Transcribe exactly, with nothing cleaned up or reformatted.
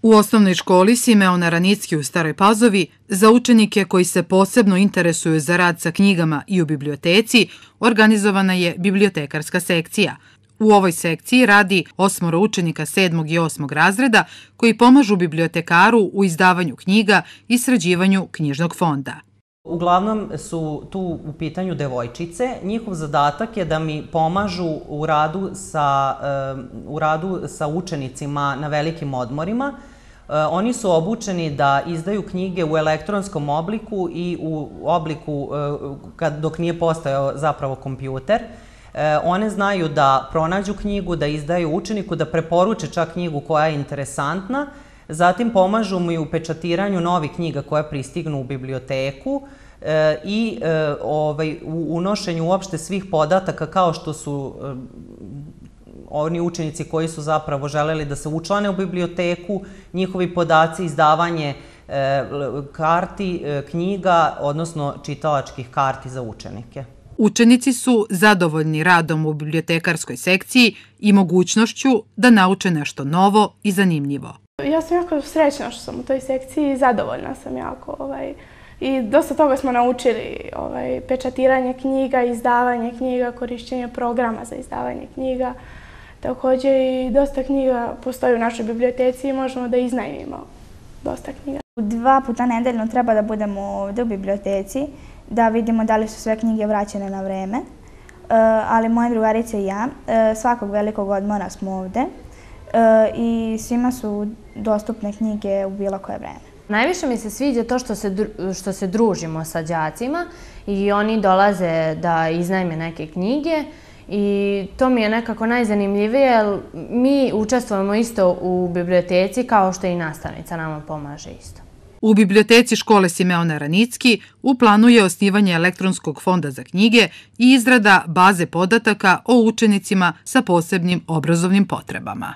U osnovnoj školi Simeona Ranicki u Staroj Pazovi za učenike koji se posebno interesuju za rad sa knjigama i u biblioteci organizovana je bibliotekarska sekcija. U ovoj sekciji radi osmoro učenika sedmog i osmog razreda koji pomažu bibliotekaru u izdavanju knjiga i sređivanju knjižnog fonda. Uglavnom su tu u pitanju devojčice. Njihov zadatak je da mi pomažu u radu sa, u radu sa učenicima na velikim odmorima. Oni su obučeni da izdaju knjige u elektronskom obliku i u obliku dok nije postojao zapravo kompjuter. One znaju da pronađu knjigu, da izdaju učeniku, da preporuče čak knjigu koja je interesantna. Zatim pomažu mu i u pečatiranju novih knjiga koje pristignu u biblioteku i u unošenju uopšte svih podataka kao što su oni učenici koji su zapravo želeli da se učlane u biblioteku, njihovi podaci, izdavanje karti, knjiga, odnosno čitalačkih karti za učenike. Učenici su zadovoljni radom u bibliotekarskoj sekciji i mogućnošću da nauče nešto novo i zanimljivo. Ja sam jako srećna što sam u toj sekciji i zadovoljna sam jako. I dosta toga smo naučili, pečatiranje knjiga, izdavanje knjiga, korišćenje programa za izdavanje knjiga. Također i dosta knjiga postoji u našoj biblioteci i možemo da iznajmimo dosta knjiga. Dva puta nedeljno treba da budemo ovdje u biblioteci, da vidimo da li su sve knjige vraćene na vreme. Ali moje drugarice i ja svakog velikog odmora smo ovdje i svima su dostupne knjige u bilo koje vreme. Najviše mi se sviđa to što se družimo sa đacima i oni dolaze da iznajme neke knjige i to mi je nekako najzanimljivije jer mi učestvujemo isto u biblioteci kao što i nastavnica nama pomaže isto. U biblioteci škole Simeona Ranicki u planu je osnivanje elektronskog fonda za knjige i izrada baze podataka o učenicima sa posebnim obrazovnim potrebama.